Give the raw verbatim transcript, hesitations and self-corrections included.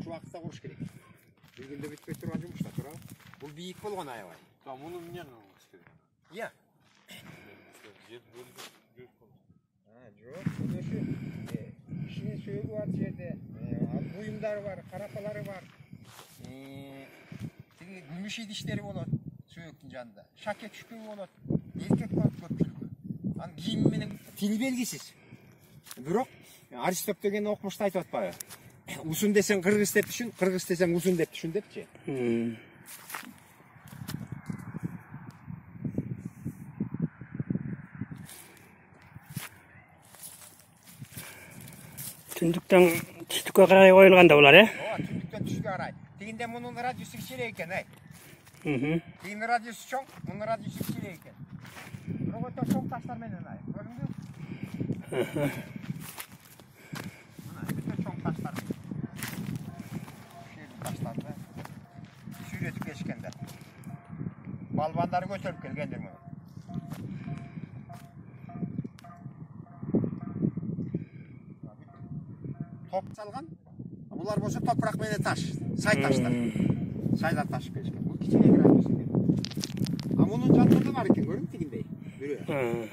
ушул убакытта куруш керек. Бир күндө бүтпөй турган жумуш да туурабы? Бул бийик болгон аябай. А муну эмне кылыш керек? Иә. Жер бөлүп жүрүп калды. А, жок, мына ушу кишинин сөөгү бар жерде, буюмдары бар, карапалары бар. Тиги күмүш идиштери болот сөөктүн жанында. Шакек шүпөбү болот. Эркек болот көпчүлүгү. Анын кийими менен тил белгисиз. Бирок Аристоп деген окумушта айтып атпайбы? Узун десең кыргыз деп түшүн, кыргыз десең узун деп түшүн депчи. Түндүктөн түштүккө карай коюлган да булар, э? Ооба, түндүктөн түштүккө карай. Тигинде мунун радиусу кичиирээк экен, ай. Мм. Тигинин радиусу чоң, мунун радиусу кичиирээк экен. Бирок өтө чоң таштар менен, ай. Көрдүңбү? Мына өтө чоң таштар. Ушул таштарды сүйрөтүп келишкендер. Балбандары көтөрүп келгендир муну. Топ салган. Булар болсо топурак менен таш, сай таштар. Сайдан ташып келишкен. Бул кичине радиус экен. А мунун жанында да бар экен, көрдүңбү тигиндей? Бирөө.